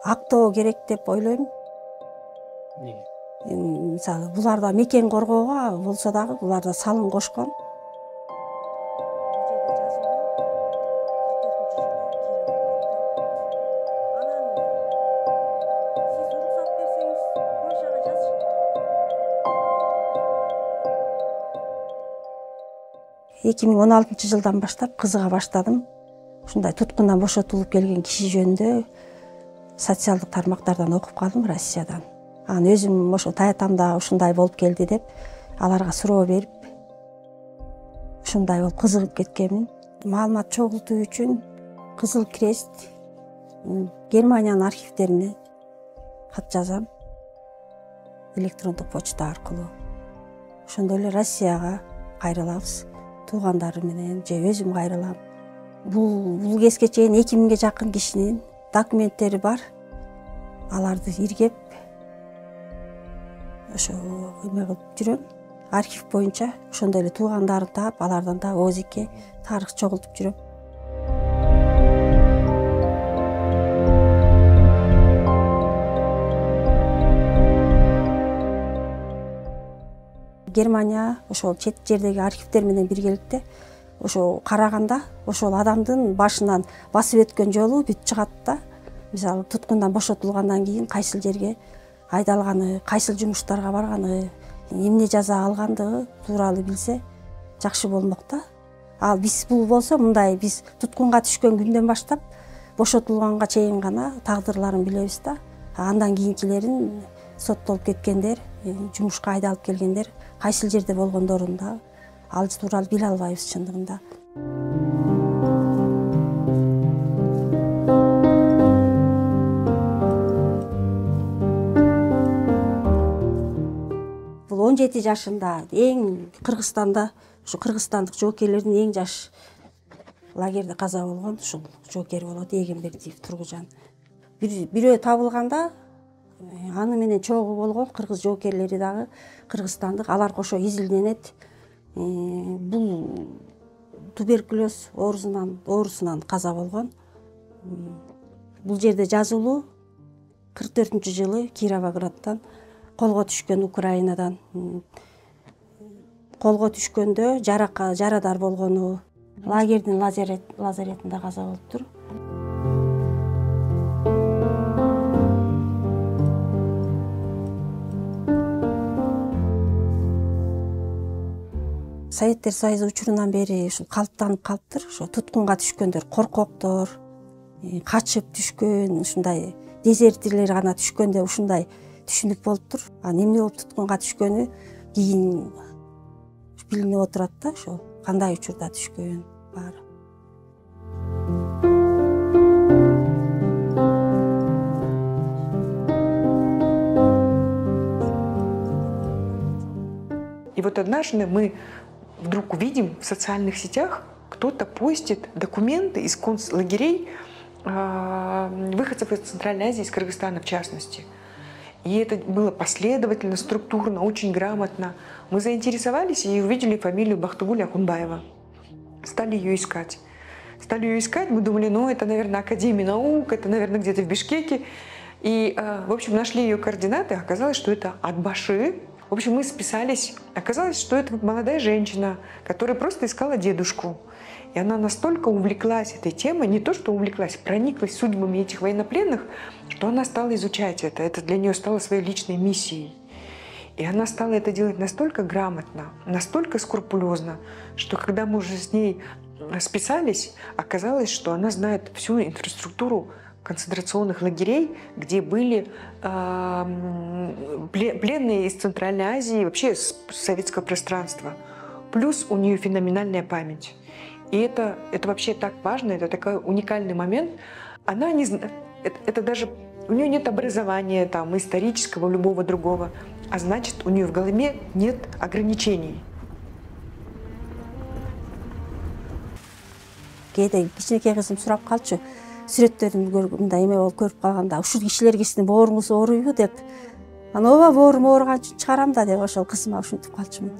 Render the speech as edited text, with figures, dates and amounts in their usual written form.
актоо керек деп ойлойм. Мисалы буларда мекен коргоого болсо дагы буларда салым кошкон. Эки миң 16 жылдан баштап кызыга баштадым. Ушундай туткундан бошотулуп келген киши жөнүндө социалдык тармактардан окуп калдым, Россиядан. Анан өзүм ошо таятамда ушундай болуп келди деп аларга суроо берип, ушундай болуп кызыгып кеткенмин. Маалымат чогултуу үчүн Кызыл Крест, Германиянын архивдерине кат жазам, электрондук почта аркылуу. Ошондой эле Россияга кайрылабыз, туугандары менен же өзүм кайрылам. Бул кезге чейин 2000ге жакын кишинин документтери бар. Аларды иргеп, ошо эме кылып жүрөм. Архив боюнча ошондой эле туугандарын таап, алардан да ОЗК тарых чогултуп жүрөм. Германия ошол чет жердеги архивдер менен биргеликте ошо караганда ошол адамдын башынан басып өткөн жолу бүт чыгат да. Мисалы туткундан бошотулгандан кийин кайсыл жерге айдалганы, кайсыл жумуштарга барганы, эмне жаза алгандыгы тууралуу билсе жакшы болмок да. Ал бул болсо мындай, биз туткунга түшкөн күндөн баштап бошотулганга чейин гана тагдырларын билебиз да. Андан кийинкилерин соттолуп кеткендер, жумушка айдалып келгендер кайсыл жерде болгондорун да ал тууралуу биле албайбыз чындыгында. Бул 17 жашында эң Кыргызстанда, ушу кыргызстандык жоокерлердин эң жаш лагерде каза болгон ушул жоокер болот, Эгембердиев Тургужан. Бирөө табылганда аны менен чогуу болгон кыргыз жоокерлери дагы кыргызстандык, алар кошо изилденет. Бул туберкулез оорусунан каза болгон. Бул жерде жазылуу 44-жылы Кировограддан колго түшкөн, Украинадан колго түшкөндө жарадар болгону, лагердин лазаретинде каза болуптур. Советтер Союзу учурунан бери ушул калыптанып калыптыр. Ошо туткунга түшкөндөр коркоктор, качып түшкөн, ушундай дезертирлер гана түшкөндө ушундай түшүнүк болуптур. Анан эмне болуп туткунга түшкөнү кийин билинип отурат да, ошо кандай учурда түшкөн баары. И вот однажды мы вдруг увидим в социальных сетях, кто-то постит документы из концлагерей выходцев из Центральной Азии, из Кыргызстана в частности. И это было последовательно, структурно, очень грамотно. Мы заинтересовались и увидели фамилию Бахтыгуля Акунбаева. Стали ее искать. Мы думали, ну это, наверное, Академия наук, это, наверное, где-то в Бишкеке. И, в общем, нашли ее координаты, оказалось, что это Атбаши. В общем, мы списались. Оказалось, что это молодая женщина, которая просто искала дедушку. И она настолько увлеклась этой темой, не то что увлеклась, прониклась судьбами этих военнопленных, что она стала изучать это. Это для нее стало своей личной миссией. И она стала это делать настолько грамотно, настолько скрупулезно, что когда мы уже с ней списались, оказалось, что она знает всю инфраструктуру концентрационных лагерей, где были пленные из Центральной Азии, вообще с советского пространства. Плюс у нее феноменальная память. И это вообще так важно, это такой уникальный момент. Она не знает, это даже, у нее нет образования там, исторического, любого другого, а значит, у нее в голове нет ограничений. Кээде кичинекей кызым сурап калчу, сүрөттөрүн мындай эме болуп көрүп калганда, ушул кишилерге сиздин бооруңуз ооруйбу деп. Анан ооба боорум ооруган үчүн чыгарам да деп ошол кызыма ушинтип калчумун.